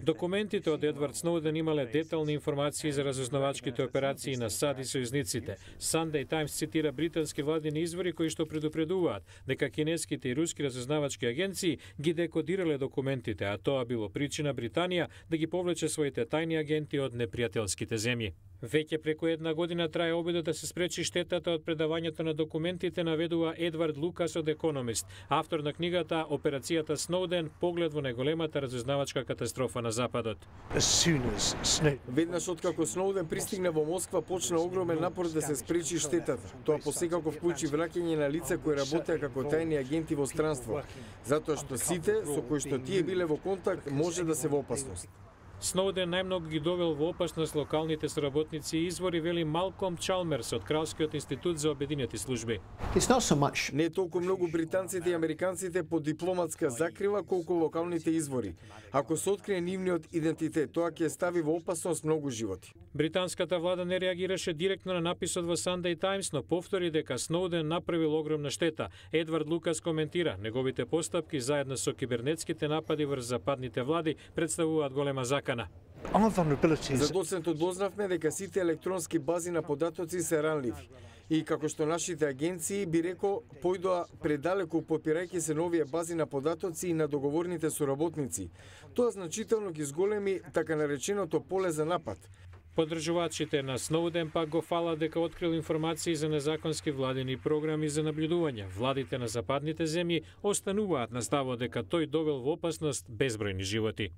Документите од Едвард Сноуден имале детални информации за разузнавачките операции на САД и сојузниците. Sunday Times цитира британски владини извори кои што предупредуваат дека кинеските и руски разузнавачки агенции ги декодирале документите, а тоа било причина Британија да ги повлече своите тајни агенти од непријателските земји. Веќе преку една година трае обидот да се спречи штетата од предавањето на документите, наведува Едвард Лукас од Економист, автор на книгата Операцијата Сноуден, поглед во најголемата разузнавачка катастрофа на Западот. Веднаш откако Сноуден пристигна во Москва, почна огромен напор да се спречи штетата. Тоа посекако вклучи враќање на лица кои работеа како тајни агенти во странство, затоа што сите со кои што тие биле во контакт може да се во опасност. Сноуден најмногу ги довел во опасност локалните соработници и извори, вели Малком Чалмерс од Кралскиот институт за обединети служби. Не толку многу британците и американците под дипломатска закрила колку локалните извори. Ако се открие нивниот идентитет, тоа ќе стави во опасност многу животи. Британската влада не реагираше директно на написот во Sunday Times, но повтори дека Сноуден направил огромна штета. Едвард Лукас коментира, неговите постапки заедно со кибернетските напади врз западните влади представуваат голема закана. За доцентот дознавме дека сите електронски бази на податоци се ранливи. И како што нашите агенции, би рекол, појдоа предалеку попирајќи се новие бази на податоци и на договорните соработници. Тоа значително ги зголеми така нареченото поле за напад. Поддржувачите на Сноуден пак го фала дека открил информации за незаконски владини програми за наблюдување. Владите на западните земји остануваат на ставот дека тој довел во опасност безбројни животи.